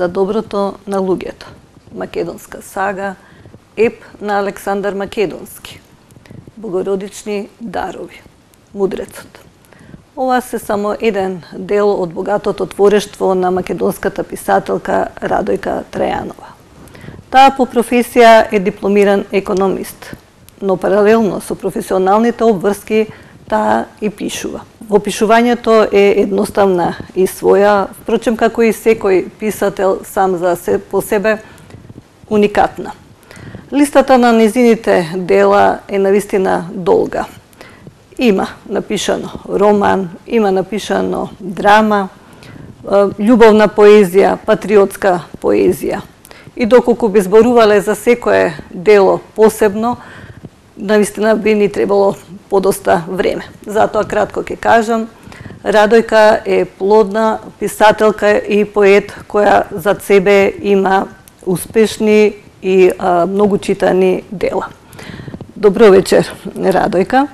за доброто на луѓето. Македонска сага, еп на Александар Македонски. Богородични дарови. Мудрецот. Ова се само еден дел од богатото творештво на македонската писателка Радојка Трајанова. Таа по професија е дипломиран економист, но паралелно со професионалните обврски таа и пишува. Во пишувањето е едноставна и своја, впрочем како и секој писател сам по себе уникатна. Листата на незините дела е навистина долга. Има напишано роман, има напишано драма, љубовна поезија, патриотска поезија. И доколку би зборувале за секое дело посебно, навистина би ни требало подоста време. Затоа кратко ќе кажам, Радојка е плодна писателка и поет која зад себе има успешни и многу читани дела. Добро вечер, Радојка.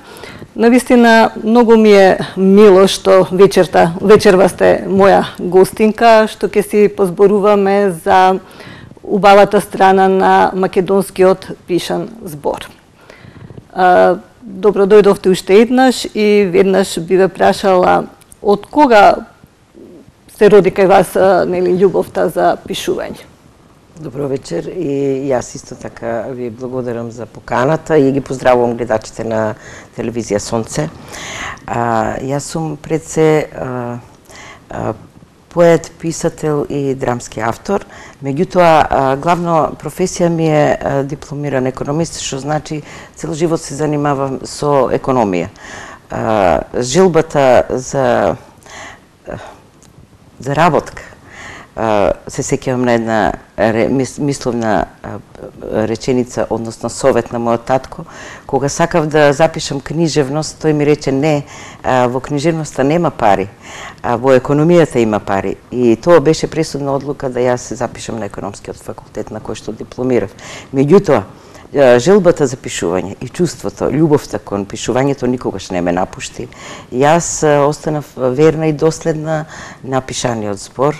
Навистина, многу ми е мило што вечерва сте моја гостинка, што ќе си позборуваме за убавата страна на македонскиот пишан збор. Добро дојдовте уште еднаш и веднаш би ве прашала од кога се роди кај вас љубовта за пишување? Добро вечер и јас исто така ви благодарам за поканата и ги поздравувам гледачите на телевизија Сонце. Јас сум пред се поет, писател и драмски автор. Меѓутоа, главно професија ми е дипломиран економист, што значи цел живот се занимавам со економија. Желбата за работка се сеќавам на една мисловна реченица, односно совет на мојот татко. Кога сакав да запишам книжевност, тој ми рече не, во книжевноста нема пари, во економијата има пари. И тоа беше пресудна одлука да јас се запишам на економскиот факултет на кој што дипломирав. Меѓутоа, желбата за пишување и чувството, љубовта кон пишувањето никогаш не ме напушти. Јас останав верна и доследна на пишаниот збор.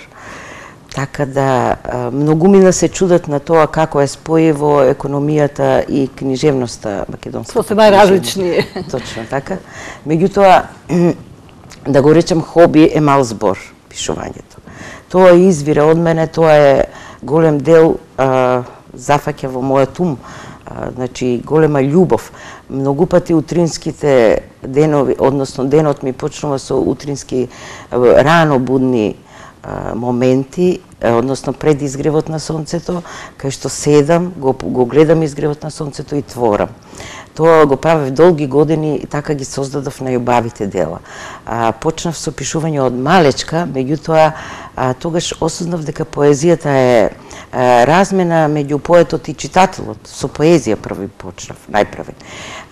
Така да, многумина се чудат на тоа како е спојиво економијата и книжевноста македонската. Сосема различни. Точно така. Меѓутоа, да го речем хоби е мал збор, пишувањето. Тоа извира од мене, тоа е голем дел, зафаќа во мојот ум, значи голема љубов. Многу пати утринските денови, односно денот ми почнува со утрински рано будни моменти, односно пред изгревот на сонцето, кај што седам, го гледам изгревот на сонцето и творам. Тоа го правев долги години и така ги создадов најубавите дела. Почнав со пишување од малечка, меѓутоа тогаш осознав дека поезијата е размена меѓу поетот и читателот. Со поезија први почнав, најпрвен.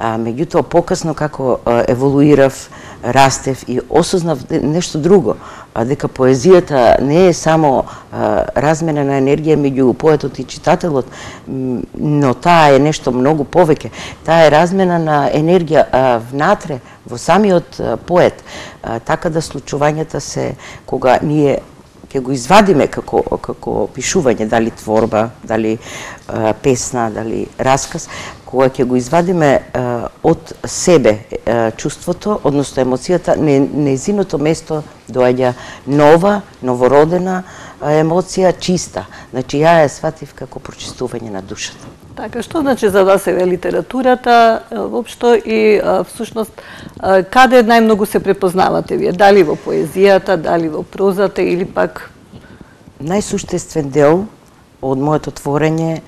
Меѓутоа покасно како еволуирав, растев и осознав нешто друго, дека поезијата не е само размена на енергија меѓу поетот и читателот, но таа е нешто многу повеќе. Таа е размена на енергија внатре, во самиот поет. Така да случувањата се, кога ние ќе го извадиме како пишување, дали творба, дали песна, дали расказ, кога ќе го извадиме од себе чувството, односно емоцијата, нејзиното место доаѓа нова, новородена емоција, чиста. Значи, ја ја сватив како прочистување на душата. Така, што значи за вас е литературата, воопшто и всушност, каде најмногу се препознавате вие? Дали во поезијата, дали во прозата или пак? Најсуштествен дел од моето творење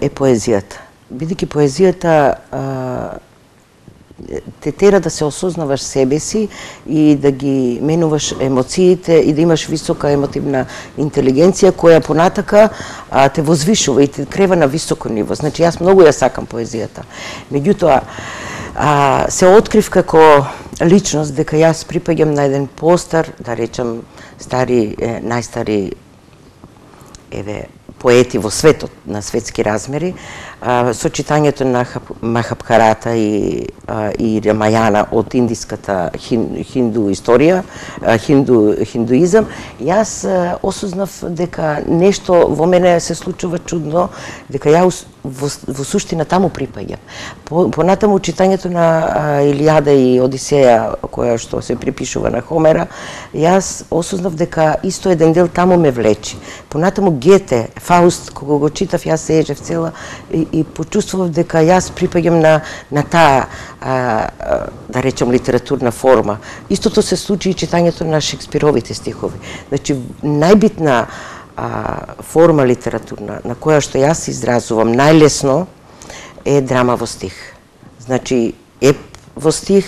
е поезијата. Бидејќи поезијата те тера да се осознаваш себе си и да ги менуваш емоциите и да имаш висока емотивна интелигенција која понатака те возвишува и те крева на високо ниво. Значи, јас многу ја сакам поезијата. Меѓутоа, се открив како личност дека јас припаѓам на еден постар, да речем, најстари поети во светот на светски размери, со читањето на Махабхарата и и Рамајана од индиската хинду историја, хиндуизам, јас осознав дека нешто во мене се случува чудно, дека ја во суштина таму припаѓам. Понатаму читањето на Илијада и Одисеја, која што се припишува на Хомера, јас осознав дека исто еден дел таму ме влечи. Понатаму Гете, Фауст, кога го читав, јас се ежев цела и почувствував дека јас припаѓам на таа, да речем, литературна форма. Истото се случи и читањето на Шекспировите стихови. Значи, најбитна форма литературна на која што јас се изразувам најлесно е драма во стих. Значи, еп во стих,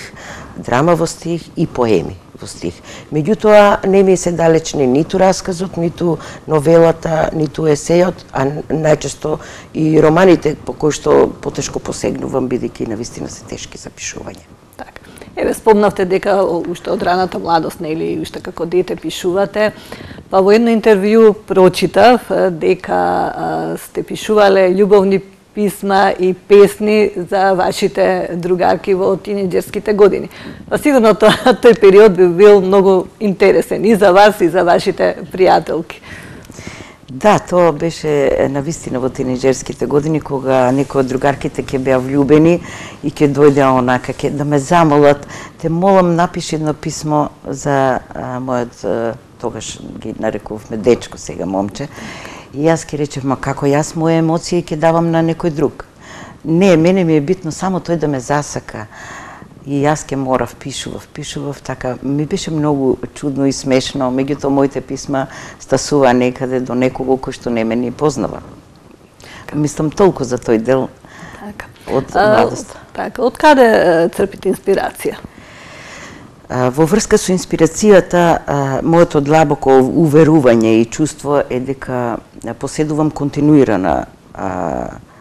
драма во стих и поеми во стих. Меѓутоа, не ми се далечни ниту расказот, ниту новелата, ниту есејот, а најчесто и романите по кои што потешко посегнувам, бидејќи навистина се тешки за пишување. Така. Еве, спомнавте дека уште од раната младост, нели, уште како дете пишувате. Па во едно интервју прочитав дека сте пишувале љубовни писма и песни за вашите другарки во тинеџерските години. Па сигурно тој период би бил многу интересен и за вас и за вашите пријателки. Да, тоа беше навистина во тинеџерските години, кога некои од другарките ќе беа влюбени и ќе дојде онака, ќе да ме замолат, те молам напиши едно писмо за мојот, тогаш ги нарекувавме дечко, сега момче. И јас ќе речев, ма како јас моја емоција ќе давам на некој друг. Не, мене ми е битно само тој да ме засака. И јас ќе морав, пишував, така. Ми беше многу чудно и смешно, меѓутоа моите писма стасува некаде до некого кој што не ме ни познава. Мислам толку за тој дел од младост. Така, од каде црпите инспирација? Во врска со инспирацијата, моето длабоко уверување и чувство е дека поседувам континуирана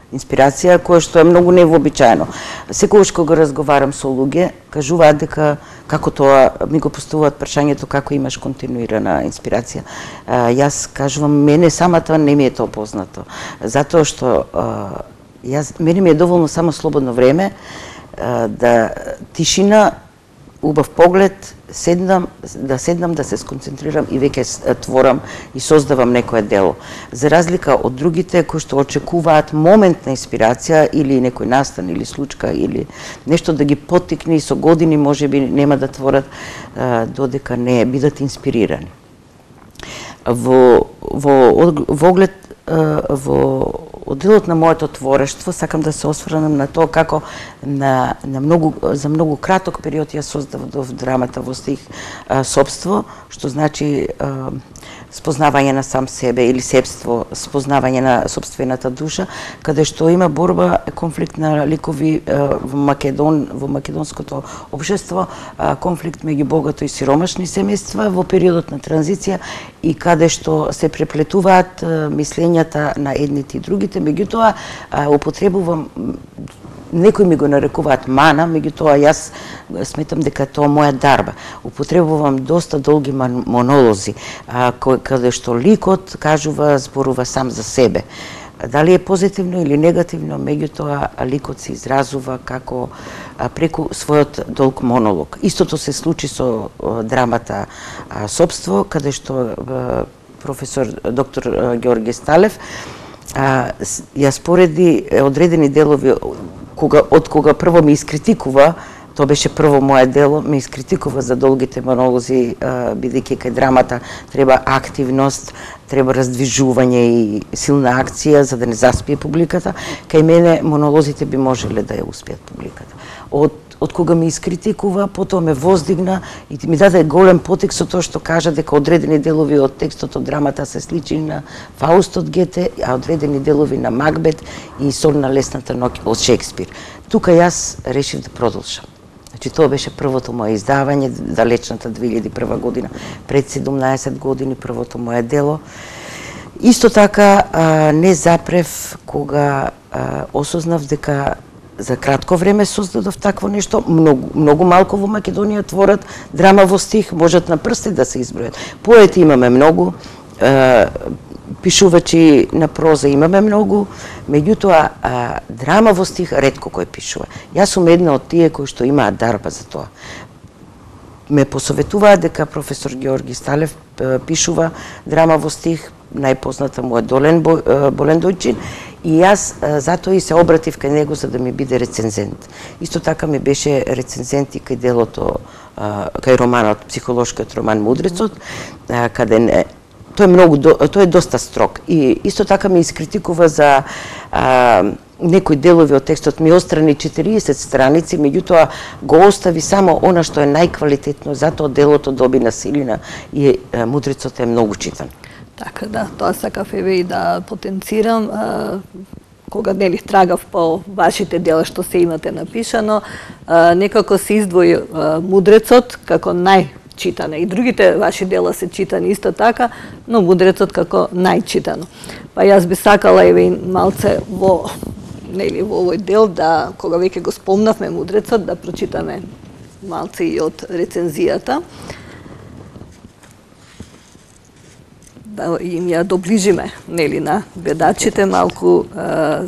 инспирација, која што е многу невообичаено. Секогаш кога разговарам со луѓе, кажуваат дека како тоа ми го поставуваат прашањето како имаш континуирана инспирација. Јас кажувам, мене самата не ми е тоа познато, затоа што мене ми е доволно само слободно време, да тишина, убав поглед, да се сконцентрирам и веќе творам и создавам некое дело. За разлика од другите кои што очекуваат момент на инспирација или некој настан или случка или нешто да ги поттикне и со години можеби нема да творат додека не бидат инспирирани. Во одделот на моето творештво сакам да се осврнам на тоа како за многу краток период ја создадов драмата во стих Собство, што значи спознавање на сам себе или себство, спознавање на собствената душа, каде што има борба, конфликт на ликови во македонското општество, конфликт меѓу богато и сиромашни семејства во периодот на транзиција и каде што се преплетуваат мислењата на едните и другите, меѓутоа употребувам, некои ми го нарекуваат мана, меѓутоа јас сметам дека тоа моја дарба. Употребувам доста долги монолози, каде што ликот зборува сам за себе. Дали е позитивно или негативно, меѓутоа ликот се изразува како преку својот долг монолог. Истото се случи со драмата Собство, каде што професор доктор Ѓорѓе Сталев ја спореди одредени делови од кога прво ми искритикува, тоа беше прво моје дело, ме искритикува за долгите монолози, бидејќи кај драмата треба активност, треба раздвижување и силна акција за да не заспие публиката. Кај мене монолозите би можеле да ја успеат публиката. Од кога ми искритикува, потоа ме воздигна и ми даде голем потек со тоа што кажа дека одредени делови од текстот од драмата се сличи на Фауст од Гете, а одредени делови на Макбет и Сон на лесната ноќ од Шекспир. Тука јас решив да продолжам. Значи, тоа беше првото моје издавање, далечната 2001 година, пред 17 години, првото моје дело. Исто така, не запрев кога осознав дека за кратко време создадов такво нешто, многу малку во Македонија творат драма во стих, можат на прсти да се избројат. Поети имаме многу, пишувачи на проза имаме многу, меѓутоа драма во стих ретко кој пишува. Јас сум една од тие кои што имаат дарба за тоа. Ме посоветуваат дека професор Георги Сталев пишува драма во стих, најпозната му е Болен Дојчин, и јас затоа и се обратив кај него за да ми биде рецензент. Исто така ми беше рецензент и кај делото, кај романот, психолошкиот роман Мудрецот, каде тој е доста строг. И исто така ме искритикува за некои делови од текстот, ми острани 40 страници, меѓутоа го остави само она што е најквалитетно, затоа делото доби на силина и Мудрецот е многу читан. Така, да, тоа сакав и да потенцирам. Кога трагав по вашите дела што се имате напишано, некако се издвои Мудрецот како најчитана. И другите ваши дела се читани исто така, но Мудрецот како најчитано. Па јас би сакала малце во овој дел, да, кога веќе го спомнавме Мудрецот, да прочитаме малце и од рецензијата. Да им ја доближиме на гледачите малку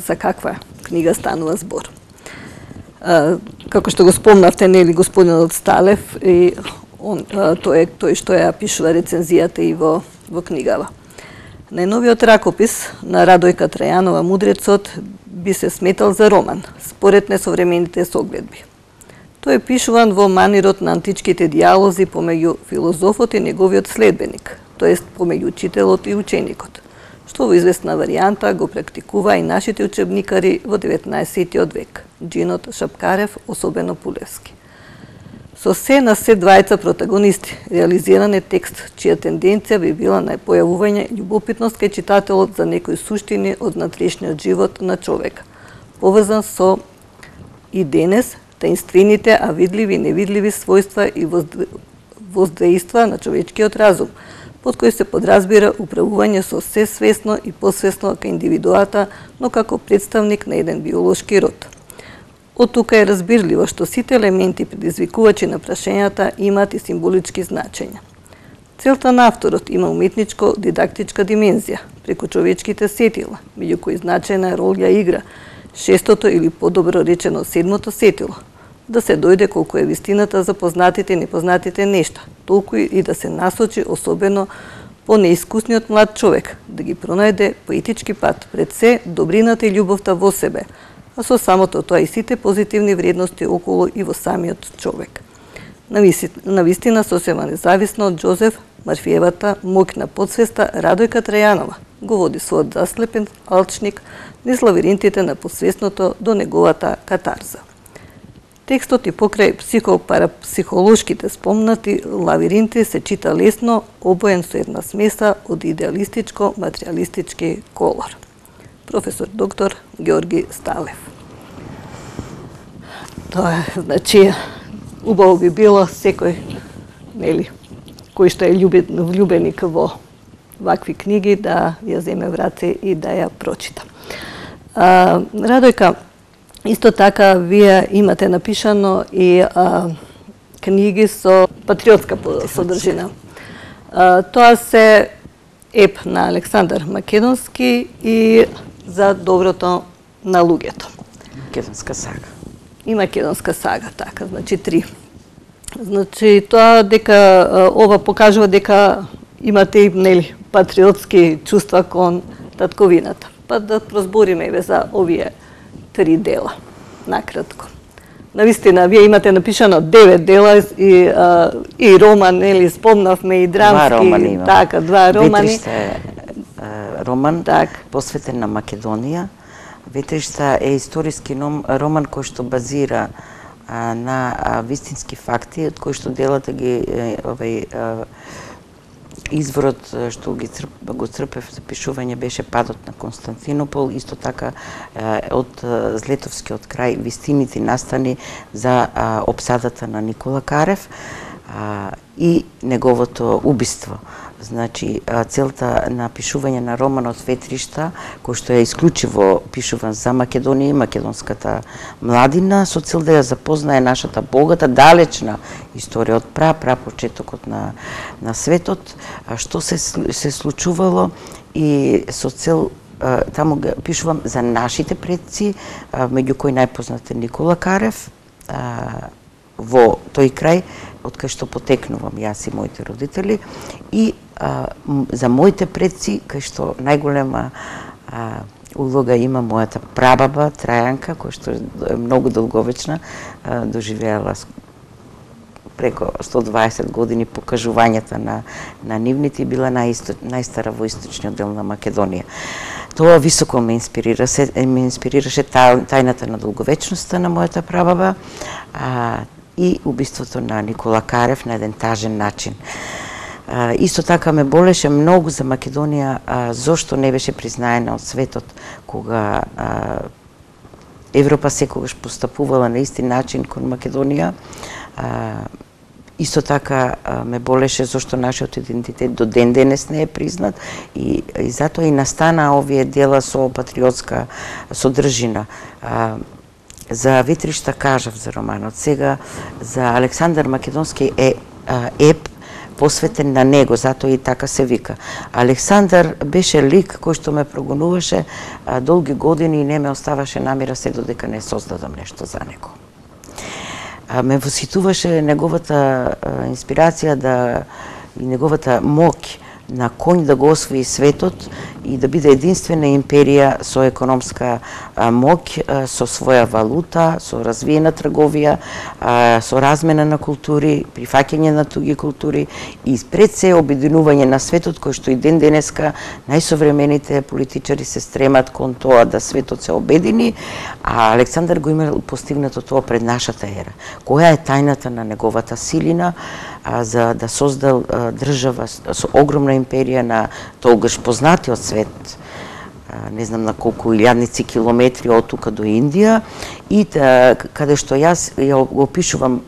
за каква книга станува збор. Како што го спомнавте, господинот Сталев, и тој што ја пишува рецензијата и во книгава. Најновиот ракопис на Радојка Трајанова Мудрецот би се сметал за роман, според несовремените согледби. Тој е пишуван во манирот на античките диалози помеѓу филозофот и неговиот следбеник, тоест помеѓу учителот и ученикот, што во известна варијанта го практикува и нашите учебникари во 19. век, Джинот, Шапкарев, особено Пулевски. Со се на се двајца протагонисти, реализиран е текст чија тенденција би била на појавување љубопитност кај читателот за некои суштини од внатрешниот живот на човека, поврзан со и денес таинствените, а видливи и невидливи својства и воздейства на човечкиот разум, под кој се подразбира управување со се свесно и посвесно кај индивидуата, но како представник на еден биолошки род. Од тука е разбирливо што сите елементи предизвикувачи на прашањата имаат и символички значења. Целта на авторот има уметничко-дидактичка димензија преку човечките сетила, меѓу кои значајна роља игра шестото или подобро речено седмото сетило, да се дојде колку е вистината за познатите и непознатите нешта, толку и да се насочи особено по неискусниот млад човек, да ги пронајде поетички пат пред се добрината и љубовта во себе, а со самото тоа и сите позитивни вредности околу и во самиот човек. Навистина сосема независно од Џозеф Марфиевата моќ на подсвеста, Радојка Трајанова го води својот заслепен алчник низ лавиринтите на подсвесното до неговата катарза. Текстот и покрај психолошките спомнати лавиринти се чита лесно, обоен со една смеса од идеалистичко-материалистички колор. Професор доктор Георги Сталев. Тоа е, значи, убаво би било секој, кој што е влюбеник во вакви книги, да ја земе в раце и да ја прочита. Радојка, исто така, вие имате напишано и книги со патриотска содржина. Тоа се еп на Александар Македонски и за доброто на луѓето. Македонска сага. И Македонска сага, така, значи 3. Значи тоа дека ова покажува дека имате и патриотски чувства кон татковината. Па да прозбориме за овие 3 дела, накратко. Навистина, вие имате напишано 9 дела и роман, спомнавме и драмски, 2 романи имам. Така, 2 романи. Ветришта е роман посветен на Македонија. Ветришта е историски роман кој што базира на вистински факти, од кои што делата ги изворот што го црпев за пишување беше падот на Константинопол, исто така од Злетовскиот крај вистините настани за опсадата на Никола Карев и неговото убиство. Значи, целта на пишување на романот Ветришта, кој што е исклучиво пишуван за Македонија и македонската младина, со цел да ја запознае нашата богата, далечна историја од почетокот на светот, што се случувало и со цел таму пишувам за нашите предци, меѓу кои најпознат е Никола Карев, во тој крај од кај што потекнувам јас и моите родители, и за моите предци кај што најголема улога има мојата прабаба Трајанка, која што е многу долговечна, доживеала преко 120 години покажувањата на нивните и била најстара во источниот дел на Македонија. Тоа високо ме инспирираше тајната на долговечноста на мојата прабаба и убиството на Никола Карев на еден тажен начин. Исто така ме болеше многу за Македонија зошто не беше признаена од светот кога Европа секогаш постапувала на исти начин кон Македонија. Исто така ме болеше зошто нашиот идентитет до ден денес не е признат и затоа и настана овие дела со патриотска содржина. За Ветришта кажав за романот. Сега за Александар Македонски е еп посветен на него, затоа и така се вика. Александар беше лик кој што ме прогонуваше долги години и не ме оставаше намира се додека не создадам нешто за него. Ме восхитуваше неговата инспирација и неговата моќ на коњ да го освои светот и да биде единствена империја со економска моќ, со своја валута, со развиена трговија, со размена на култури, прифаќање на туги култури и пред се обединување на светот, кој што и ден денеска најсовремените политичари се стремат кон тоа да светот се обедини, а Александар го имал постигнато тоа пред нашата ера. Која е тајната на неговата силина за да создал држава со огромна империја на тогаш познатиот свет, не знам на колку илјадници километри од тука до Индија, и каде што јас ја опишувам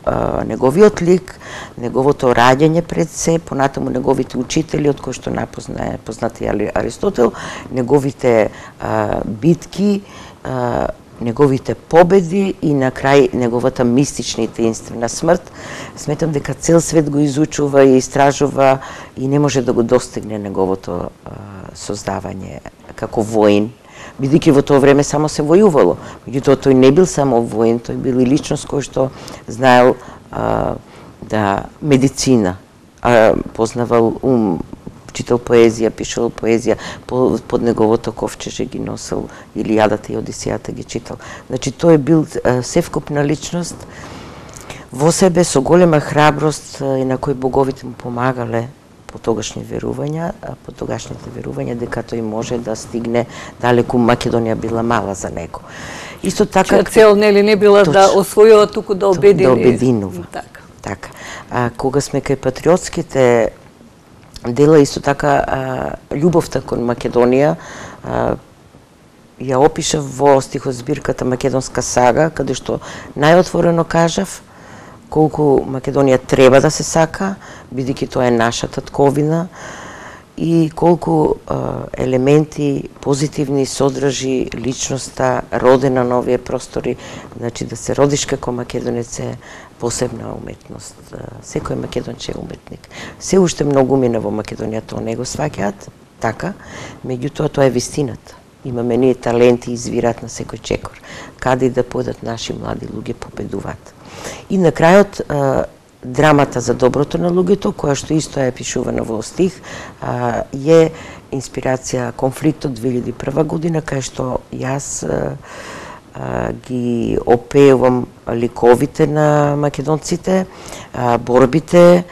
неговиот лик, неговото раѓање пред се, понатаму неговите учители, од кои што најпознае познати Аристотел, неговите битки, неговите победи и на крај неговата мистична и таинствена смрт. Сметам дека цел свет го изучува и истражува и не може да го достигне неговото создавање како воин, бидејќи во тоа време само се војувало. Меѓутоа тој не бил само воин, тој бил и личност кој што знаел да медицина, познавал читал поезија, пишувал поезија, под неговото ковчеже ги носел Илијадата и Одисејата ги читал. Значи тој бил севкупна личност во себе со голема храброст и на кој боговите му помагале по тогашните верувања дека тој може да стигне далеку. Македонија била мала за него. Исто така цел нели не била да освојува, туку да обедини. Да обединува. Така. Кога сме кај патриотските дела, исто така љубовта кон Македонија ја опишав во стихозбирката Македонска сага, каде што најотворено кажав колку Македонија треба да се сака, бидејќи тоа е нашата тковина, и колку елементи позитивни содржи личноста родена на овие простори. Значи да се родиш како македонец е посебна уметност. Секој македонче е уметник. Се уште многу мина во Македонија тоа не го сваќаат така, меѓутоа тоа е вистината. Имаме ние таленти, извираат на секој чекор. Каде и да појдат наши млади луѓе победуваат. И на крајот драмата за доброто на луѓето, која што исто е пишувана во стих, е инспирација конфликтот 2001 година, кај што јас ги опеувам ликовите на македонците, борбите,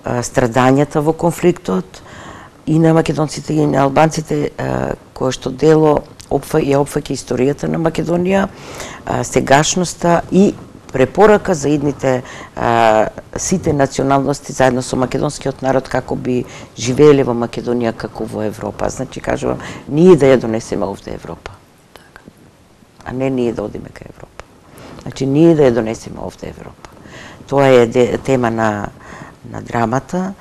страдањата во конфликтот и на македонците и на албанците, кое што дело ја опфаќа историјата на Македонија, сегашноста и препорака за идните сите националности заедно со македонскиот народ како би живееле во Македонија како во Европа. Значи кажувам, ние да ја донесеме овде Европа, а не ние да одиме кај Европа. Значи ние да ја донесеме овде Европа. Тоа е тема на драмата.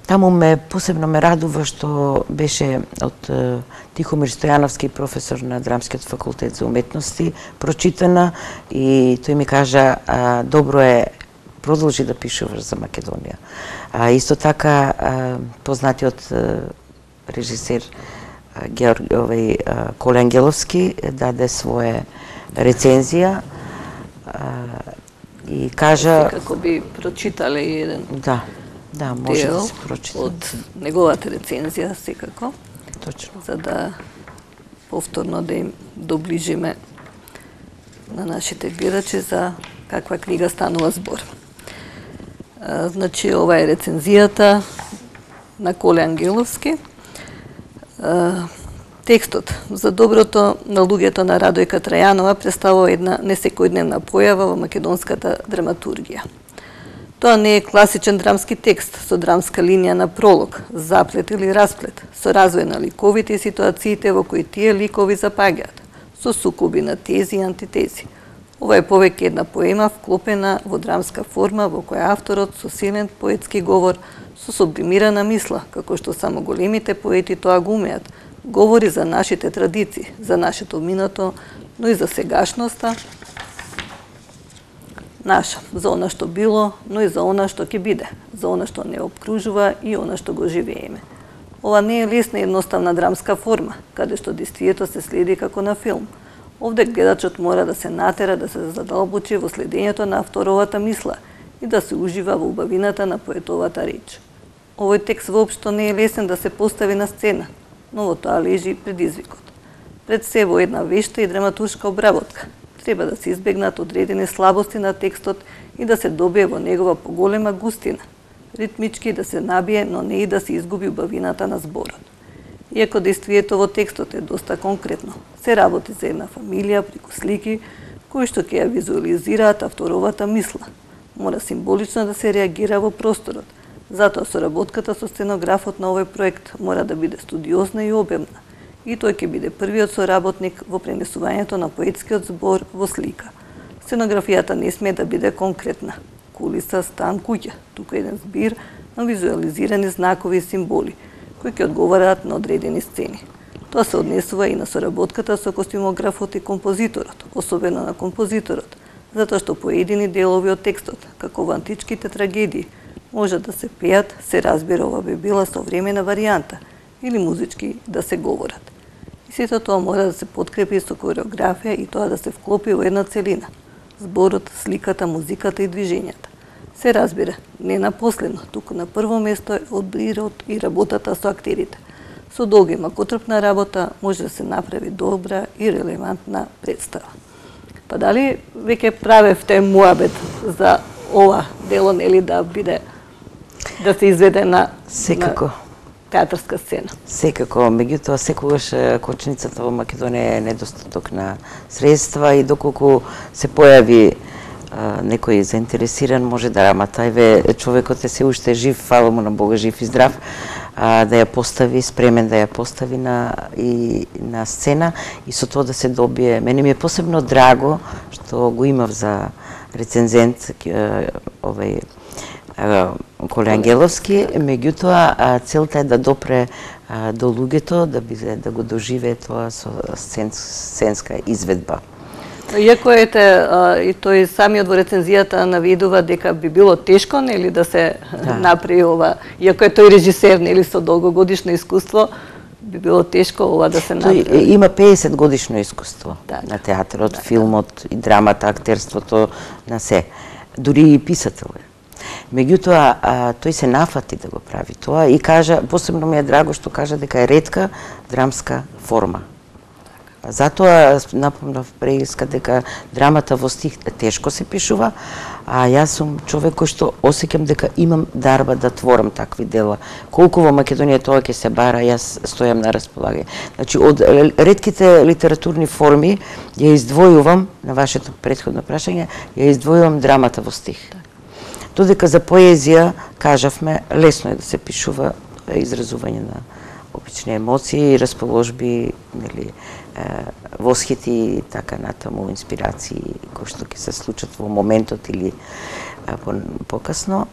Таму посебно ме радува што беше од Тихомир Стојановски, професор на Драмскиот факултет за уметности, прочитана, и тој ми кажа добро е, продолжи да пишуваш за Македонија. Исто така познатиот режисер Коле Ангеловски даде своја рецензија и кажа... Како би прочитале еден може дел да се прочита од неговата рецензија, секако. Точно. За да повторно да им доближиме на нашите гледачи за каква книга станува збор. Значи, ова е рецензијата на Коле Ангеловски. Текстот за доброто на луѓето на Радојка Трајанова представува една несекојдневна појава во македонската драматургија. Тоа не е класичен драмски текст со драмска линија на пролог, заплет или расплет, со развој на ликовите и ситуациите во кои тие ликови запаѓаат, со сукоби на тези и антитези. Ова е повеќе една поема вклопена во драмска форма во која авторот со силен поетски говор, со сублимирана мисла, како што само големите поети тоа го умеат, говори за нашите традиции, за нашето минато, но и за сегашноста наша, за она што било, но и за она што ќе биде, за она што не обкружува и она што го живееме. Ова не е лесна и едноставна драмска форма, каде што действието се следи како на филм. Овде гледачот мора да се натера да се задолбочи во следењето на авторовата мисла и да се ужива во убавината на поетовата реч. Овој текст воопшто не е лесен да се постави на сцена, но во тоа лежи предизвикот. Пред се во една вешта и драматуршка обработка треба да се избегнат одредени слабости на текстот и да се добие во негова поголема густина, ритмички да се набие, но не и да се изгуби убавината на зборот. Иако действието во текстот е доста конкретно, се работи за една фамилија преку слики кои што ќе ја визуализираат авторовата мисла. Мора символично да се реагира во просторот. Затоа соработката со сценографот на овој проект мора да биде студиозна и обемна. И тој ќе биде првиот соработник во пренесувањето на поетскиот збор во слика. Сценографијата не смее да биде конкретна. Кулиса, стан, куќа, туку еден збир на визуализирани знакови и символи, кои ќе одговараат на одредени сцени. Тоа се однесува и на соработката со костюмографот и композиторот, особено на композиторот, затоа што поедини делови од текстот, како во античките трагедии, може да се пеат, се разбира ова би била современа варијанта, или музички да се говорат. И сето тоа мора да се подкрепи со кореографија и тоа да се вклопи во една целина. Зборот, сликата, музиката и движењата. Се разбира, не на последно, туку на прво место е одбирот и работата со актерите. Со долга и макотрпна работа може да се направи добра и релевантна представа. Па дали веќе правевте муабет за ова дело, нели да биде, да се изведе на секако театарска сцена? Секако, меѓутоа секогаш кочницата во Македонија е недостаток на средства и доколку се појави некој заинтересиран, може да рамата. Еве, човекот е се уште жив, фала му на Бога, жив и здрав, да ја постави, спремен да ја постави на сцена и со тоа да се добие. Мене ми е посебно драго што го имав за рецензент овој Коле Ангеловски, меѓутоа целта е да допре до луѓето, да го доживее тоа со сценска изведба. Иако и тој самиот во рецензијата наведува дека би било тешко, нели, да се направи ова, иако е тој режисер, нели, со долгогодишно искуство, би било тешко ова да се направи. Тој има 50 годишно искуство на театарот, филмот и драмата, актерството, на се. Дури и писател е. Меѓутоа, тој се нафати да го прави тоа и кажа, посебно ми е драго што кажа дека е ретка драмска форма. Затоа напомнав преиска дека драмата во стих тешко се пишува, а јас сум човек кој што осеќам дека имам дарба да творам такви дела. Колку во Македонија тоа ќе се бара, јас стојам на располагање. Значи, од ретките литературни форми ја издвојувам, на вашето претходно прашање, ја издвојувам драмата во стих. Додека за поезија, кажавме, лесно е да се пишува изразување на обични емоции, расположби, нели, восхити и така натаму, инспирации кои што ќе се случат во моментот или покасно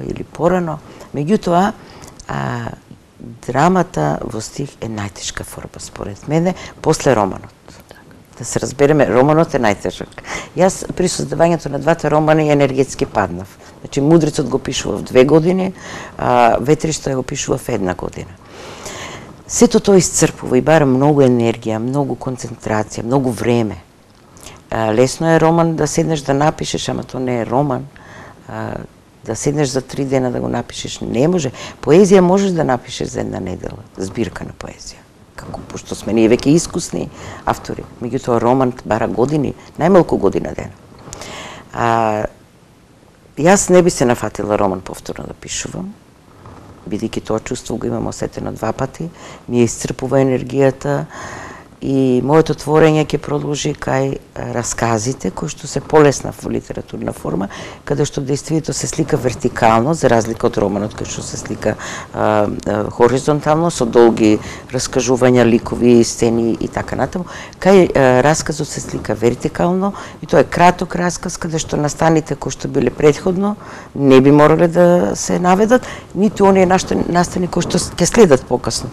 или порано. Меѓутоа, драмата во стих е најтешка форма според мене после романот. Да се разбереме, романот е најтежок. Јас при создавањето на двата романи енергетски паднав. Значи, Мудрецот го пишува в 2 години, а Ветришта го пишува в 1 година. Сето тоа исцрпува и бара многу енергија, многу концентрација, многу време. Лесно е роман да седнеш да напишеш, ама тоа не е роман. Да седнеш за 3 дена да го напишеш, не може. Поезија можеш да напишеш за една недела, збирка на поезија. Како, пошто сме ние веќе искусни автори. Меѓутоа роман бара години, најмалку година дена. Јас не би се нафатила роман повторно да пишувам, бидејќи тоа чувство го имам осетено 2 пати, ми исцрпува енергијата и моето творење ќе продолжи кај расказите, кои што се полесна во литературна форма, каде што действието се слика вертикално, за разлика од романот кој што се слика хоризонтално, со долги раскажувања, ликови, сцени и така натаму. Кај расказот се слика вертикално и тоа е краток расказ, каде што настаните кои што биле претходно не би морале да се наведат, ниту оние настани кои што ќе следат покасно.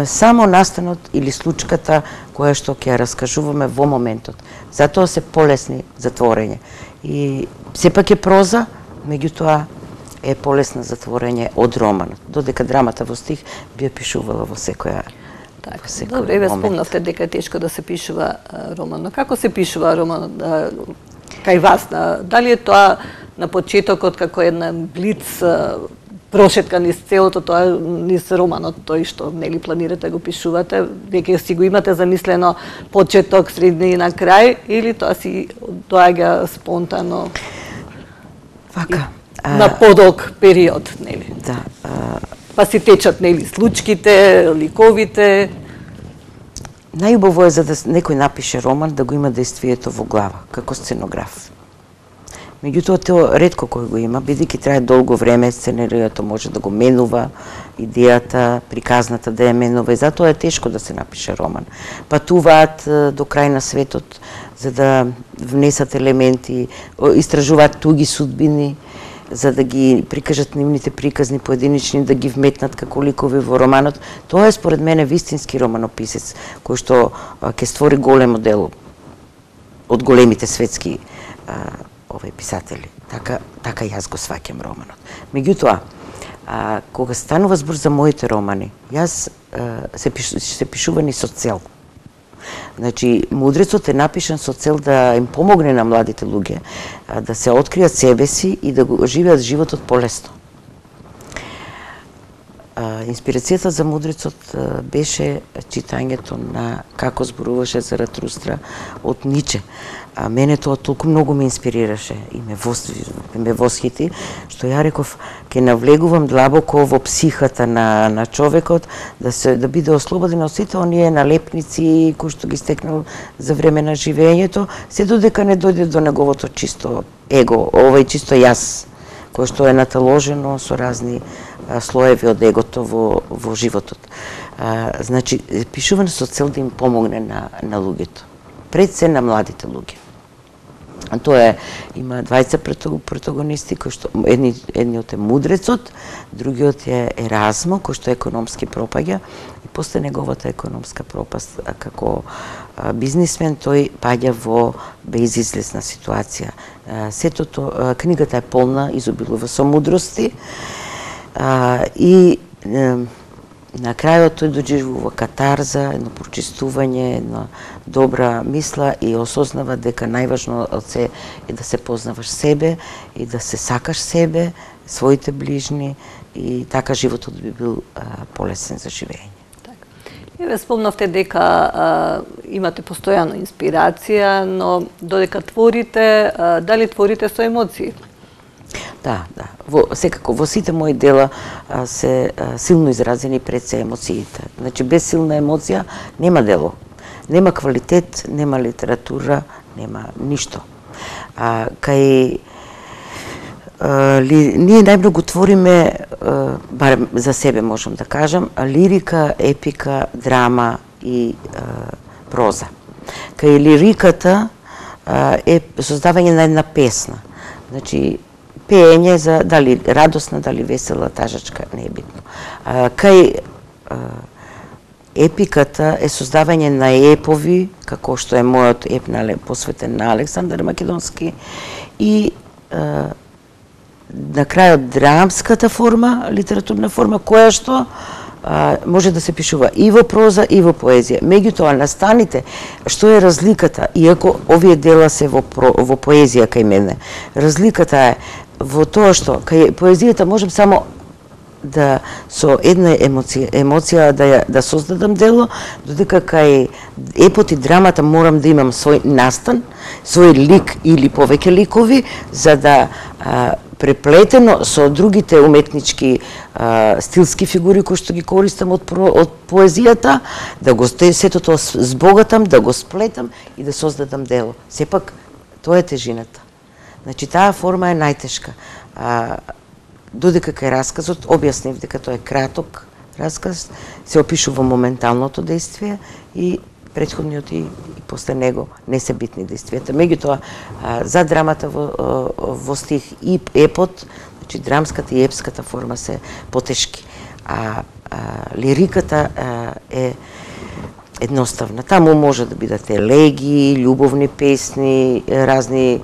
Само настанот или случката која што ќе раскажуваме во моментот. Затоа се полесни за творење. И сепак е проза, меѓутоа е полесна за творење од романот. Додека драмата во стих би ја пишувала во секоја Добре, ве спомнавте дека е тешко да се пишува роман. Но како се пишува роман кај вас? Дали е тоа на почетокот како една блиц прошетка низ целото тоа, низ романот, тој што нели планирате да го пишувате, веќе си го имате замислено почеток, средина и крај, или тоа си доаѓа спонтано? Вака. На подолг период, нели? Да. Па си течат, нели, случките, ликовите? Најубаво е за да некој напише роман да го има действието во глава, како сценограф. Меѓутоа, тоа ретко кој го има, бидејќи трае долго време, сценаријата може да го менува, идејата, приказната да ја менува, и затоа е тешко да се напише роман. Патуваат до крај на светот за да внесат елементи, истражуваат туги судбини, за да ги прикажат нивните приказни поединични, да ги вметнат како ликови во романот. Тоа е според мене вистински романописец, кој што ќе створи големо дело од големите светски писатели. Така јас го сваќам романот. Меѓутоа, кога станува збор за моите романи, јас се пишувани со цел. Значи, Мудрецот е напишан со цел да им помогне на младите луѓе да се откријат себе си и да го живеат животот полесно. Инспирацијата за Мудрецот беше читањето на Како зборуваше Заратрустра од Ниче. Мене тоа толку многу ме инспирираше и ме восхити, што ја реков, ќе навлегувам длабоко во психата на човекот, да биде ослободен од сите оние налепници кои што ги стекнал за време на живењето, се додека не дојде до неговото чисто его, чисто јас, кој што е наталожено со разни слоеви од егото во животот. Значи, пишувам со цел да им помогне на луѓето. Пред се на младите луѓе. Тоа има двајца протагонисти, кои што едниот е Мудрецот, другиот е Еразмо, кој што економски пропаѓа, и после неговата економска пропаст како бизнисмен тој паѓа во безизлезна ситуација. Книгата е полна, изобилува со мудрости, и на крајот тој доживува катарза, едно прочистување, една добра мисла и осознава дека најважно од се е да се познаваш себе и да се сакаш себе, своите ближни, и така животот би бил полесен за живење. Еве спомнавте дека имате постојано инспирација, но додека творите, дали творите со емоции? Да. Секако, во сите мои дела се силно изразени пред се емоциите. Значи, без силна емоција нема дело. Нема квалитет, нема литература, нема ништо. Ние најмногу твориме, барем за себе можам да кажам, лирика, епика, драма и проза. Кај лириката е создавање на една песна. Значи, пеење за дали радосна, дали весела, тажачка, не е битно. Кај епиката е создавање на епови, како што е мојот еп посветен на Александар Македонски, и на крајот драмската форма, литературна форма, која што може да се пишува и во проза и во поезија. Меѓутоа, настаните, што е разликата, иако овие дела се во поезија кај мене, разликата е во тоа што кај поезијата можам само да со една емоција да создадам дело, додека кај епот и драмата морам да имам свој настан, свој лик или повеќе ликови, за да преплетено со другите уметнички стилски фигури кои што ги користам од поезијата, да го сето тоа збогатам, да го сплетам и да создадам дело. Сепак, тоа е тежината. Значи, таа форма е најтешка. Додека кај расказот, објаснив дека тоа е краток расказ, се опишува моменталното действие и претходниот и после него не се битни действијата. Меѓутоа, за драмата во стих и епот, значи драмската и епската форма се потешки, а лириката е едноставна. Таму може да бидат елегии, љубовни песни, разни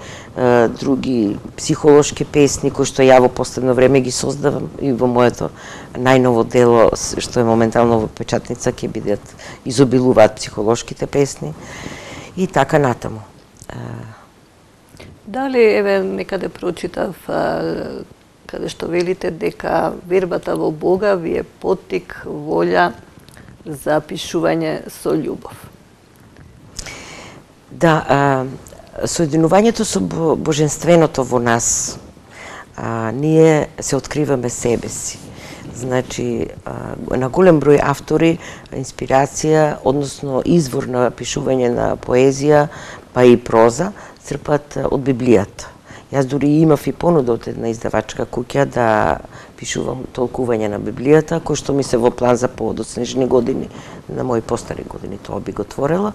други психолошки песни кои што ја во последно време ги создавам и во моето најново дело што е моментално во печатница ќе бидат изобилуваат психолошките песни и така натаму. Дали еве некаде прочитав каде што велите дека вербата во Бога ви е поттик, волја за пишување со љубов? Да, соединувањето со боженственото во нас, ние се откриваме себе си. Значи, на голем број автори, инспирација, односно извор на пишување на поезија, па и проза, црпат од Библијата. Јас дури имав и понуда од една издавачка куќа да пишувам толкување на Библијата, кој што ми се во план за подоцнежни години, на мои постари години тоа би го творела.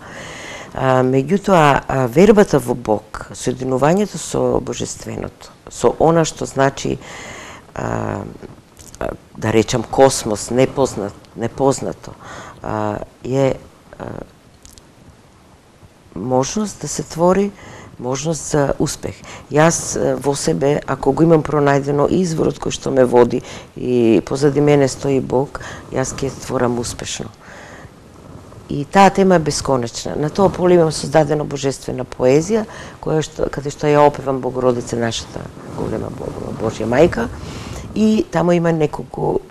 Меѓутоа, вербата во Бог, соединувањето со божественото, со она што значи, да речам, космос, непознато, е можност да се твори, можност за успех. Јас во себе, ако го имам пронајдено изворот кој што ме води и позади мене стои Бог, јас ќе творам успешно. И таа тема е бесконечна. На тоа поле имам создадено божествена поезија, каде што ја опевам Богородица, нашата голема Божја мајка, и таму има неколку,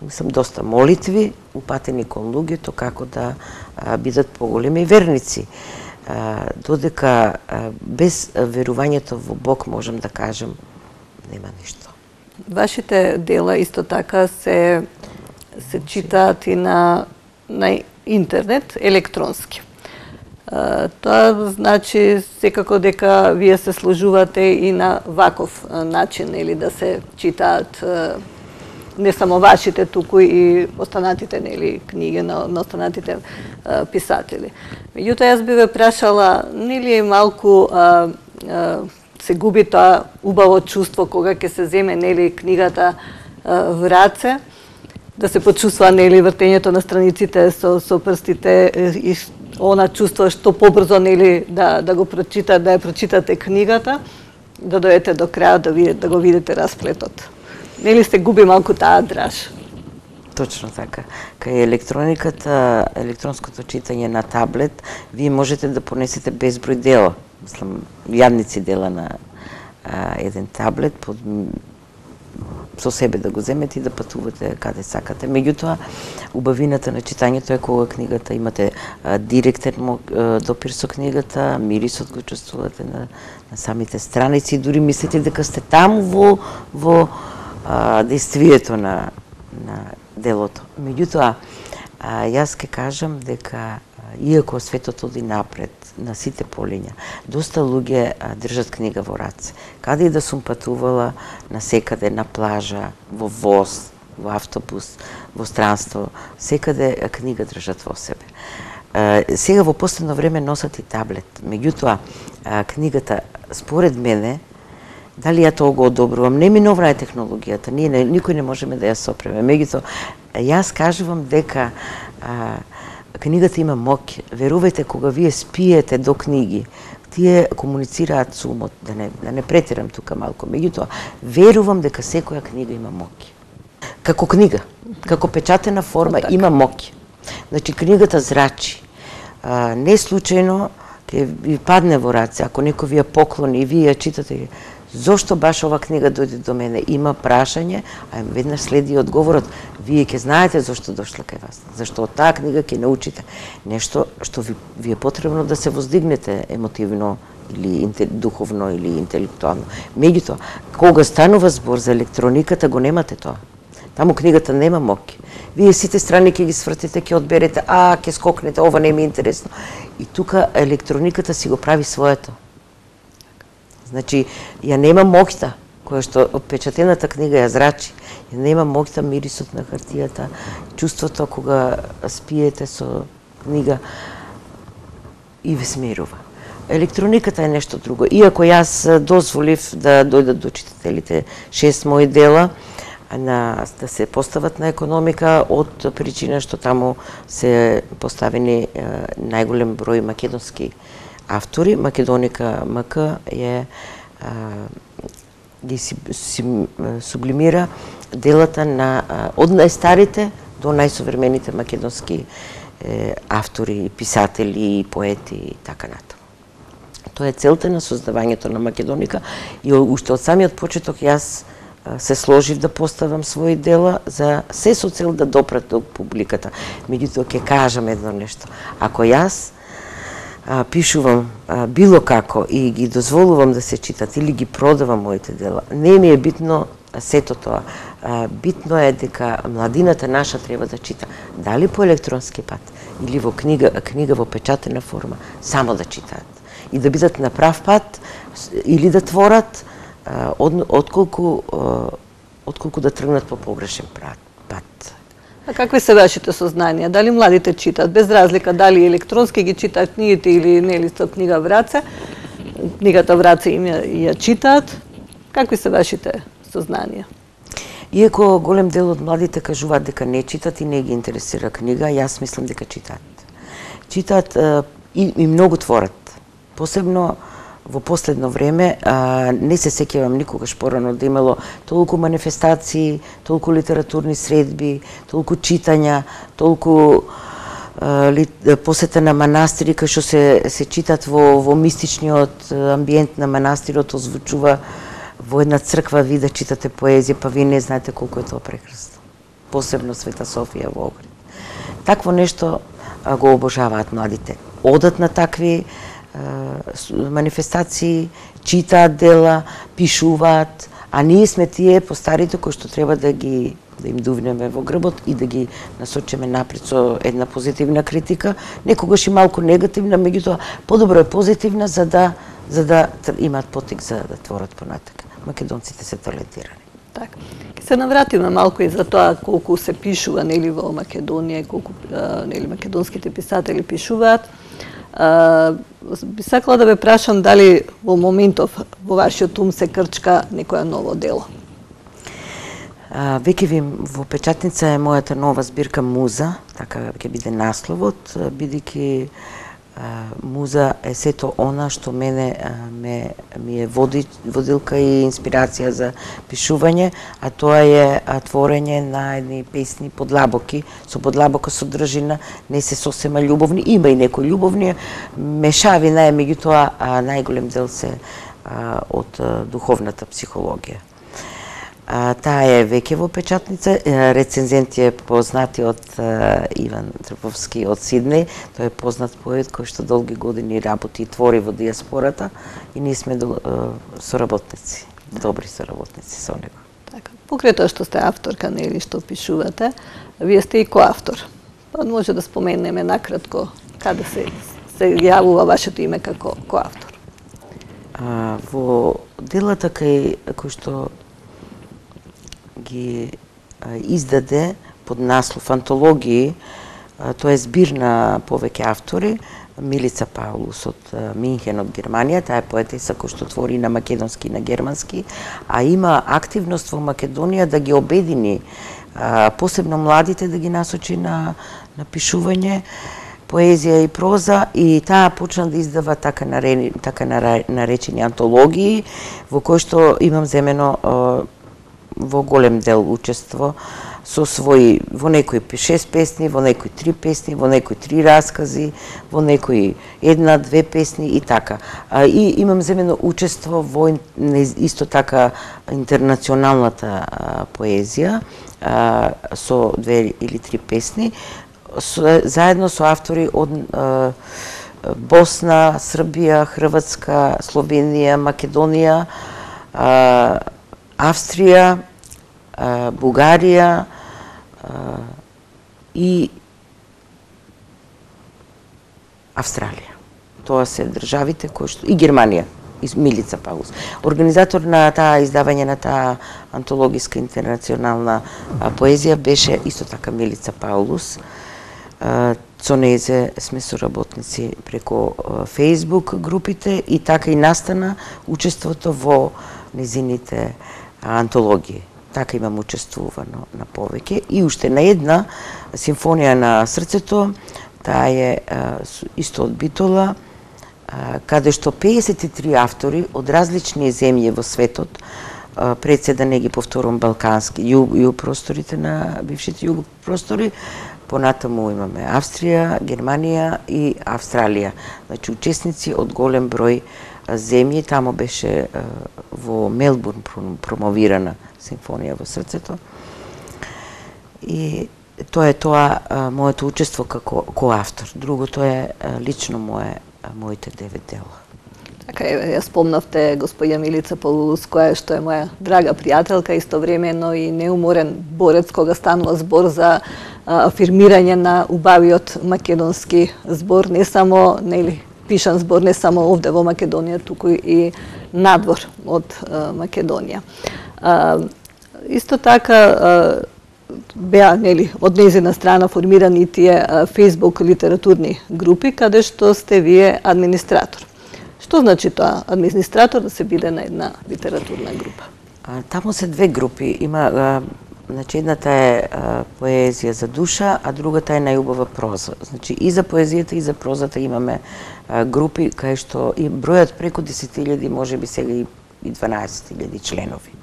мислам, доста молитви упатени кон луѓето како да бидат поголеми верници. Додека без верувањето во Бог, можам да кажам, нема ништо. Вашите дела исто така се читаат и на интернет, електронски. Тоа значи секако дека вие се сложувате и на ваков начин, нели, да се читаат не само вашите, туку и останатите, нели, книги на останатите писатели. Меѓутоа, јас би ве прашала, нели е малку се губи тоа убаво чувство кога ќе се земе, нели, книгата в раце, да се почувствува, нели, вртењето на страниците со прстите и она чувство што побрзо, нели, да го прочитате, да ја прочитате книгата, да дојдете до крајот, да го видите расплетот. Нели се губи малку таа драж? Точно така. Кај електрониката, електронското читање на таблет, вие можете да понесете безброј дела, мислам, јадници дела на еден таблет, со себе да го земете и да патувате каде сакате. Меѓутоа, убавината на читањето е кога книгата имате директен допир со книгата, мирисот го чувствувате на самите страници, дури мислите дека сте таму во действието на делото. Меѓутоа, јас ке кажам дека иако светот оди напред на сите полиња, доста луѓе држат книга во раце. Каде и да сум патувала, насекаде, на плажа, во воз, во автобус, во странство, секаде книга држат во себе. Сега во последно време носат и таблет. Меѓутоа, книгата, според мене, дали ја тоа го одобрувам, неминовна е технологијата, никој не можеме да ја сопреме. Меѓутоа, јас кажувам дека книгата има моќ. Верувајте, кога вие спиете до книги, тие комуницираат со умот, да не претерам тука малку. Меѓутоа, верувам дека секоја книга има моќ. Како книга, Како печатена форма има моќ. Значи, книгата зрачи. Не случајно ќе ви падне во раце, ако некој ви ја поклони и вие ја читате, зошто баш ова книга дојде до мене? Има прашање, а веднаш следи одговорот. Вие ќе знаете зошто дошла кај вас. Зашто од таа книга ќе научите нешто што ви е потребно да се воздигнете емотивно или духовно или интелектуално. Меѓутоа, кога станува збор за електрониката, го немате тоа. Таму книгата нема моќ. Вие сите страни ќе ги свртите, ќе одберете, ќе скокнете, ова не ми е интересно. И тука електрониката си го прави своето. Значи, ја нема моќта, која што печатената книга ја зрачи. Ја нема моќта, мирисот на хартијата, чувството кога спиете со книга и ве смирува. Електрониката е нешто друго. Иако јас дозволив да дојдат до читателите 6 мои дела, да се постават на економика од причина што таму се поставени најголем број македонски автори. Македоника МК ги сублимира делата од најстарите до најсовремените македонски автори, писатели, поети и така натаму. Тоа е целта на создавањето на Македоника и уште од самиот почеток јас се сложив да поставам своји дела за се со цел да допрат до публиката. Меѓутоа ќе кажам едно нешто. Ако јас пишувам било како и ги дозволувам да се читат или ги продавам моите дела, не ми е битно сето тоа. Битно е дека младината наша треба да чита. Дали по електронски пат или во книга во печатена форма, само да читаат. И да бидат на прав пат или да творат, отколку да тргнат по погрешен пат. А какви се вашите сознанија? Дали младите читат, без разлика дали електронски ги читаат книгите или нели со книга враце? Книгата враце им ја читаат. Какви се вашите сознанија? Иако голем дел од младите кажуваат дека не читат и не ги интересира книга, јас мислам дека читаат. Читаат и многу творат. Посебно во последно време, не се сеќавам никогаш порано да имало толку манифестации, толку литературни средби, толку читања, толку посета на манастири кај што се читат во мистичниот амбиент на манастирот, озвучува во една црква ви да читате поезија, па вие не знаете колку е тоа прекрасно. Посебно Света Софија во Огрид. Такво нешто го обожаваат младите. Одат на такви манифестации, читаат дела, пишуваат, а ние сме тие постарите кои што треба да им дувнеме во грбот и да ги насочиме напред со една позитивна критика, некогаш и малку негативна, меѓутоа подобро е позитивна за да имаат потик за да творат понатака. Македонците се талентирани. Така. Ќе се навратиме малку и за тоа колку се пишува нели во Македонија, колку нели македонските писатели пишуваат. Би сакала да ве прашам дали во моментов во вашиот ум се крчка некоја ново дело? Веќе ви во печатница е мојата нова збирка Муза, така ќе биде насловот, бидејќи Муза е сето она што мене ми е водилка и инспирација за пишување, а тоа е творење на едни песни подлабоки, со подлабока содржина, не се сосема љубовни, има и некои љубовни, мешавина е, меѓутоа најголем дел се од духовната психологија. Таа е веќе во печатница, рецензент е познатиот Иван Трповски од Сиднеј, тој е познат поет кој што долги години работи и твори во диаспората и ние сме соработници, добри соработници со него. Така, покрај тоа што сте авторка, нели, што пишувате, вие сте и коавтор. Па може да споменеме накратко каде се јавува вашето име како коавтор? Во делата кои што ги издаде под наслов антологии, тоа е збир на повеќе автори, Милица Паулус од Минхен од Германија, таа е поетеса која што твори на македонски и на германски, а има активност во Македонија да ги обедини, посебно младите да ги насочи на пишување, поезија и проза, и таа почна да издава така наречени антологии, во кои што имам земено во голем дел учество со своји, во некои 6 песни, во некои 3 песни, во некои 3 раскази, во некои 1-2 песни и така. И имам земено учество во исто така интернационалната поезија со 2 или 3 песни, заедно со автори од Босна, Србија, Хрватска, Словенија, Македонија, Австрија, Бугарија и Австралија. Тоа се државите кои што и Германија, и Милица Паулус. Организатор на таа издавање на таа антологиска интернационална поезија беше исто така Милица Паулус. Со нејзе сме соработници преку Facebook групите и така и настана учеството во незините антологии. Така имам учествувано на повеќе. И уште на една симфонија на срцето, таа е исто од Битола, каде што 53 автори од различни земји во светот, пред се да не ги повторам балкански, југ просторите на бившите југ простори, понатаму имаме Австрија, Германија и Австралија. Значи, учесници од голем број земји, тамо беше во Мелбурн промовирана симфонија во срцето. И тоа е моето учество како коавтор. Другото е лично моите 9 дела. Така ја спомнавте господја Милица Паулус, која што е моја драга пријателка, истовремено и неуморен борец кога станува збор за афирмирање на убавиот македонски збор, не само пишан збор, не само овде во Македонија, туку и надвор од Македонија. Исто така беа од нејзина страна формирани тие Facebook литературни групи, каде што сте вие администратор. Што значи тоа, администратор да се биде на една литературна група? Таму се 2 групи. Има, значи, едната е поезија за душа, а другата е најубава проза. Значи, и за поезијата и за прозата имаме групи кај што и бројат преку 10.000, може би сега и 12.000 членови.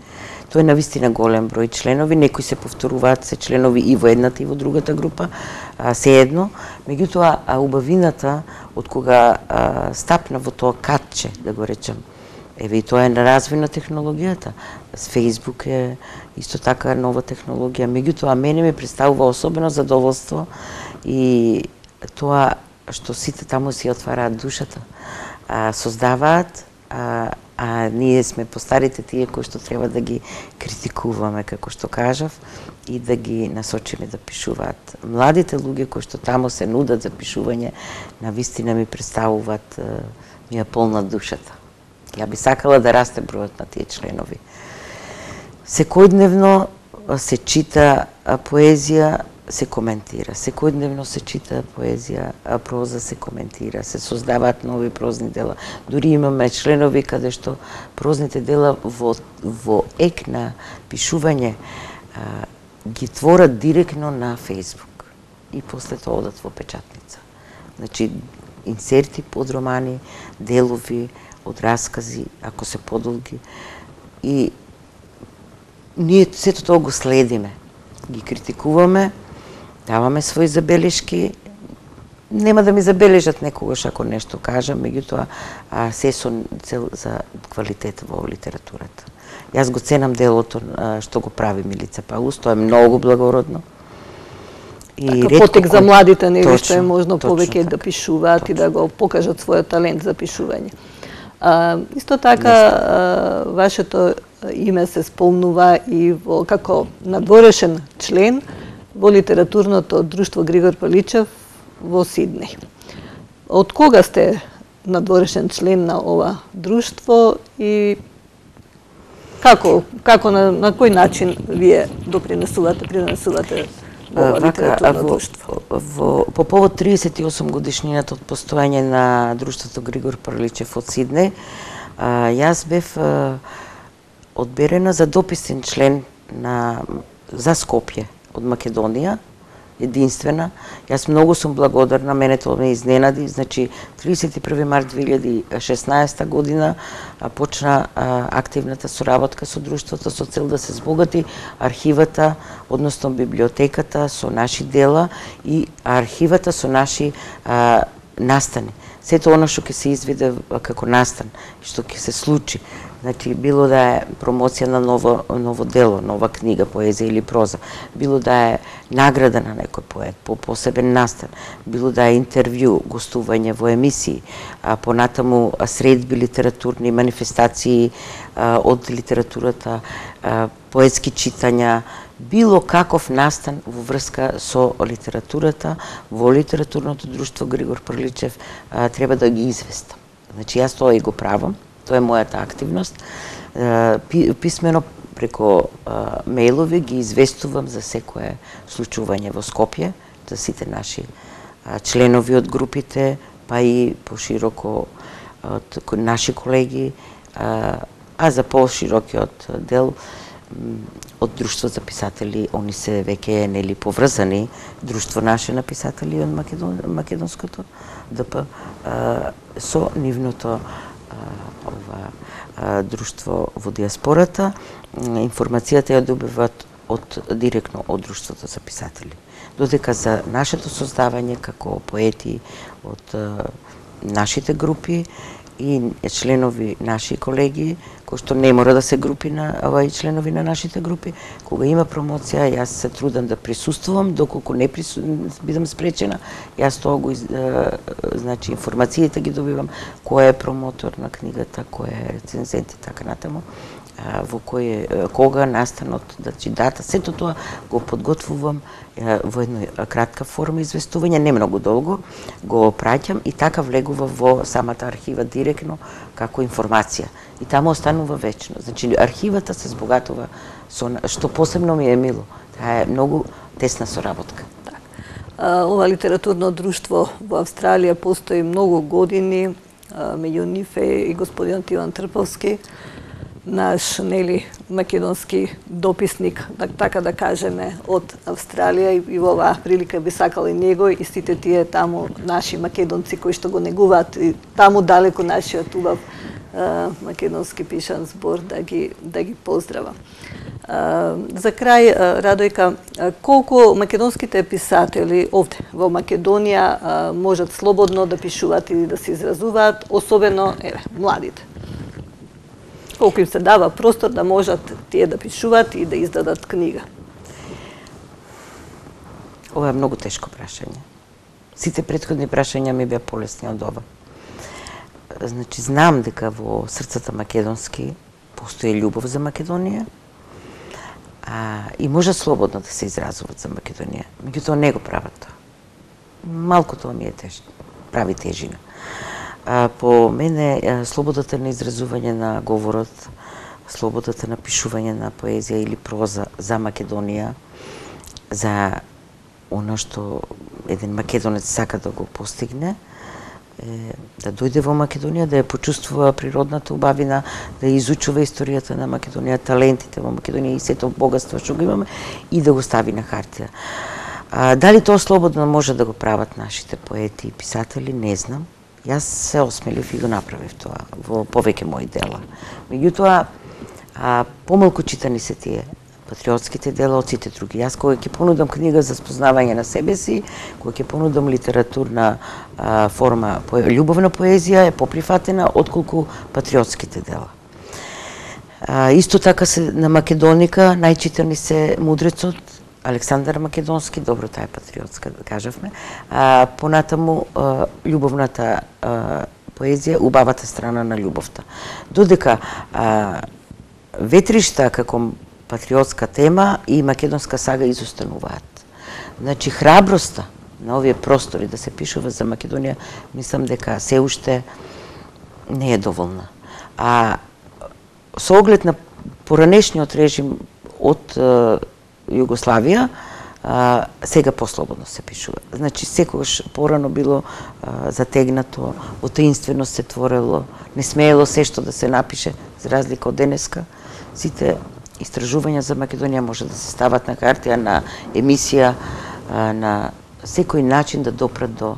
Тоа е навистина голем број членови, некои се повторуваат, се членови и во едната и во другата група, се едно. Меѓутоа, убавината од кога стапна во тоа катче, да го речем, еве и тоа е на развој на технологијата. С Facebook е исто така нова технологија. Меѓутоа, мене ми представува особено задоволство и тоа што сите таму си отвараат душата, создаваат, а ние сме постарите тие кои што треба да ги критикуваме, како што кажав, и да ги насочиме да пишуваат. Младите луѓе кои што таму се нудат за пишување, навистина ми представуваат, ми ја полнат душата. Ја би сакала да расте бројот на тие членови. Секојдневно се чита поезија, се коментира. Секојдневно се чита поезија, проза се коментира, се создаваат нови прозни дела. Дури имаме членови каде што прозните дела во ек на пишување ги творат директно на Facebook и после тоа одат во печатница. Значи, инсерти под романи, делови од раскази, ако се подолги. И ние сето тоа го следиме, ги критикуваме, даваме своји забелешки. Нема да ми забележат некогаш ако нешто кажам, меѓутоа се со цел за квалитет во литературата. Јас го ценам делото што го прави Милица Паулус, тоа е многу благородно. И потек за младите, нели, што е можно повеќе да пишуваат и да го покажат својот талент за пишување. Исто така, вашето име се спомнува и како надворешен член во литературното друштво Григор Паличев во Сиднеј. Од кога сте надворешен член на ова друштво и како на кој начин вие принесувате во ова литературно друштво? По повод 38 годишнината од постоење на друштвото Григор Паличев од Сиднеј, јас бев одберена за дописен член за Скопје од Македонија единствена. Јас многу сум благодарна, мене тоа ме изненади. Значи, 31. март 2016 година почна активната соработка со друштвото со цел да се збогати архивата, односно библиотеката со наши дела и архивата со наши настани. Сето оно што ќе се изведе како настан, што ќе се случи. Значи, било да е промоција на ново дело, нова книга, поезија или проза, било да е награда на некој поет, по посебен настан, било да е интервју, гостување во емисии, понатаму средби литературни, манифестации од литературата, поетски читања, било каков настан во врска со литературата, во литературното друштво Григор Прличев треба да ги известам. Значи, јас тоа и го правам. Тоа е мојата активност. Писмено преко мејлови ги известувам за секое случување во Скопје, за сите наши членови од групите, па и пошироко од наши колеги, а за поширокиот дел од Друштво за писатели, они се веќе нели поврзани, Друштво наше на писатели од македонското ДП со нивното друштво во диаспората. Информацијата ја добиваат директно од Друштвото за писатели. Додека за нашето создавање како поети од нашите групи и членови наши колеги, кои што не мора да се групи и членови на нашите групи, кога има промоција, јас се трудам да присуствувам, доколку не бидам спречена, јас тоа го значи информациите ги добивам, кој е промотор на книгата, кој е рецензент и така натаму, во кога настанот, значи дата, сето тоа го подготвувам во една кратка форма известување, не многу долго, го праќам и така влегува во самата архива директно како информација. И таму останува вечно. Значи, архивата се збогатува со што посебно ми е мило. Таа е многу тесна соработка. Ова литературно друштво во Австралија постои многу години, меѓу нив е и господинот Иван Трповски, наш македонски дописник, така да кажеме, од Австралија, и во оваа прилика би сакала и него и сите тие таму наши македонци кои што го негуваат и таму далеко нашиот убав македонски пишан збор да ги поздравам. За крај, Радојка, колку македонските писатели овде во Македонија можат слободно да пишуваат или да се изразуваат, особено младите? Колку им се дава простор да можат тие да пишуваат и да издадат книга? Ова е многу тешко прашање. Сите претходни прашања ми беа полесни од ова. Значи, знам дека во срцата македонски постои љубов за Македонија и може слободно да се изразуваат за Македонија. Меѓутоа не го прават тоа. Малку тоа ми е прави тежина. По мене слободата на изразување на говорот, слободата на пишување на поезија или проза за Македонија, за оно што еден македонец сака да го постигне, да дојде во Македонија, да ја почувствува природната убавина, да изучува историјата на Македонија, талентите во Македонија и сето богатство што го имаме и да го стави на хартија. Дали тоа слободно може да го прават нашите поети и писатели, не знам. Јас се осмелив и го направив тоа во повеќе мои дела. Меѓутоа, помалку читани се тие патриотските дела од сите други. Јас кога ќе понудам книга за спознавање на себе си, кога ќе понудам литературна форма, љубовна поезија е поприфатена отколку патриотските дела. Исто така се на Македоника најчитани се Мудрецот, Александар Македонски, добро, таа е патриотска, да кажавме. Понатаму љубовната поезија, убавата страна на љубовта. Додека ветришта како патриотска тема и македонска сага изостануваат. Значи, храброста на овие простори да се пишува за Македонија, мислам дека се уште не е доволна. Со оглед на поранешниот режим од Југославија, сега послободно се пишува. Значи, секогаш порано било затегнато, во таинственост се творело, не смеело се што да се напише, за разлика од денеска. Сите истражувања за Македонија може да се стават на хартија, на емисија, на секој начин да допрат до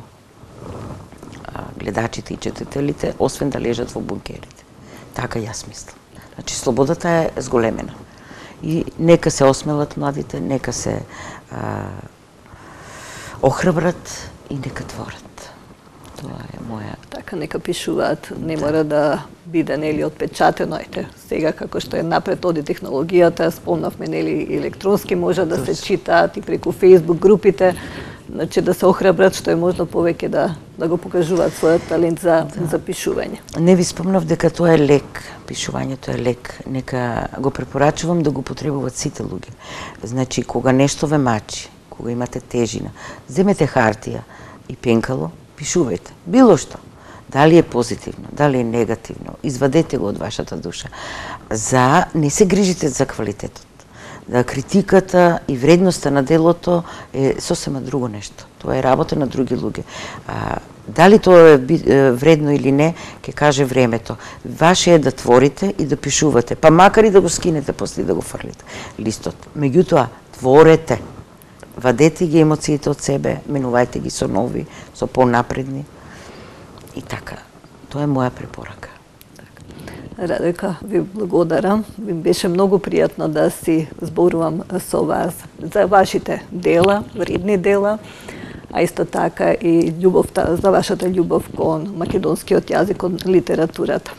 гледачите и четителите, освен да лежат во бункерите. Така јас мислам. Значи, слободата е зголемена. И нека се осмелат младите, нека се охрабрат и нека творат. Тоа е моја... Така, нека пишуваат, не мора да биде, нели, отпечатено. Ете, сега како што е напред оди технологијата, спомнавме, нели, електронски може да се читаат и преку Facebook групите, значи да се охрабрат што е можно повеќе да го покажуваат својот талент за пишување. Не ви спомнав дека тоа е лек, пишувањето е лек. Нека го препорачувам да го потребуваат сите луѓе. Значи, кога нешто ве мачи, кога имате тежина, земете хартија и пенкало, пишувајте. Било што. Дали е позитивно, дали е негативно, извадете го од вашата душа. Не се грижите за квалитетот. Да критиката и вредноста на делото е сосема друго нешто. Тоа е работа на други луѓе. Дали тоа е вредно или не, ќе каже времето. Ваше е да творите и да пишувате, па макар и да го скинете после да го фрлите листот. Меѓутоа, творете. Вадете ги емоциите од себе, менувајте ги со нови, со понапредни. И така, тоа е моја препорака. Радојка, ви благодарам. Ви беше многу пријатно да си зборувам со вас за вашите дела, вредни дела, а исто така и љубовта, за вашата љубов кон македонскиот јазик, кон литературата.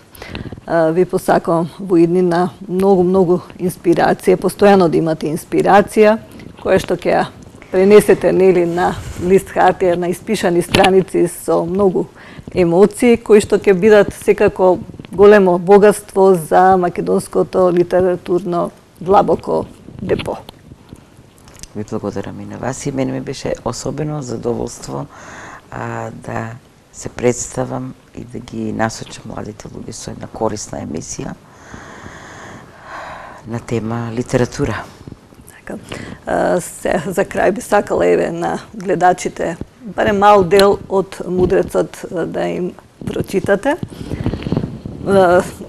Ви посакувам во иднина многу инспирација, постојано да имате инспирација, која што ќе ја пренесете, нели, на лист хартија, на испишани страници со многу емоции, кои што ќе бидат секако големо богатство за македонското литературно длабоко депо. Ви благодарам и на вас, и мене ми беше особено задоволство да се представам и да ги насочам младите луѓе со една корисна емисија на тема литература. Се за крај би сакала еве на гледачите барем мал дел од Мудрецот да им прочитате.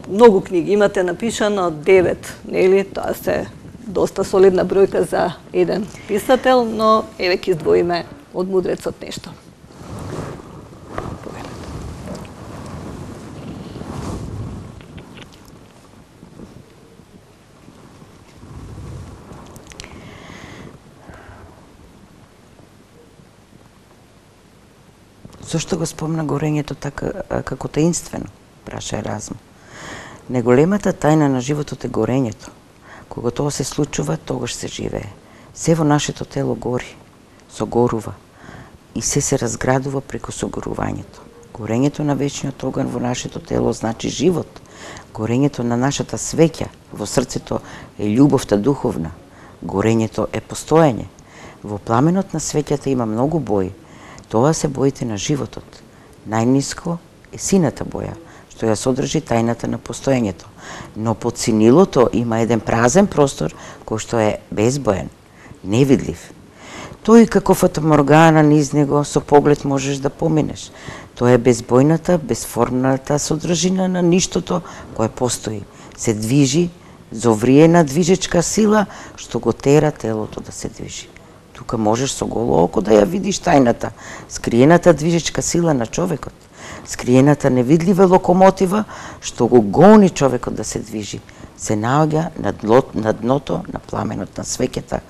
Многу книги имате напишано, 9, нели? Тоа се доста солидна бројка за еден писател, но еве ќе издвоиме од Мудрецот нешто. Зошто го спомна горењето така како таинствено, праша Еразм. Неголемата тајна на животот е горењето. Кога тоа се случува, тогаш се живее. Се во нашето тело гори, согорува и се разградува преку согорувањето. Горењето на вечниот оган во нашето тело значи живот. Горењето на нашата свеќа во срцето е љубовта духовна. Горењето е постоење. Во пламенот на свеќата има многу бои. Тоа се боите на животот. Најниско е сината боја, што ја содржи тајната на постоењето. Но под синилото има еден празен простор кој што е безбоен, невидлив. Тој како фатаморгана низ него со поглед можеш да поминеш. Тоа е безбојната, безформната содржина на ништото кое постои. Се движи, зовриена движечка сила што го тера телото да се движи. Тука можеш со голо око да ја видиш тајната, скриената движечка сила на човекот, скриената невидлива локомотива што го гони човекот да се движи, се наоѓа на дното на пламенот на свеќата,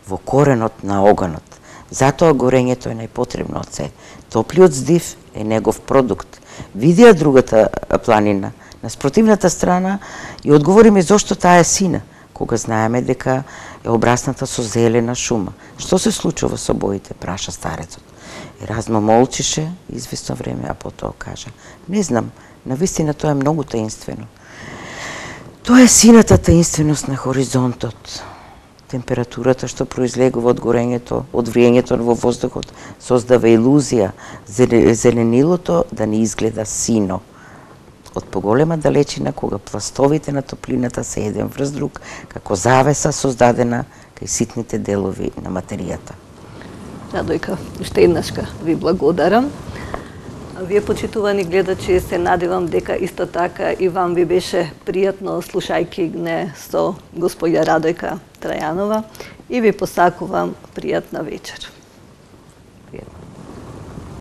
во коренот на оганот. Затоа горењето е најпотребно од се. Топлиот здив е негов продукт. Види ја другата планина, на спротивната страна, и одговори ми зошто таа е сина, кога знаеме дека е обрасната со зелена шума. Што се случува со боите, праша старецот. Еразмо молчише извесно време, а потоа кажа: не знам, навистина тоа е многу таинствено. Тоа е сината таинственост на хоризонтот. Температурата што произлегува од горењето, од вриењето во воздухот, создава илузија зеленилото да не изгледа сино. Од поголема далечина, кога пластовите на топлината се еден врз друг, како завеса создадена кај ситните делови на материјата. Радојка, уште еднашка ви благодарам. Вие, почитувани гледачи, се надевам дека исто така и вам ви беше пријатно слушајќи не со господја Радојка Трајанова и ви посакувам пријатна вечер.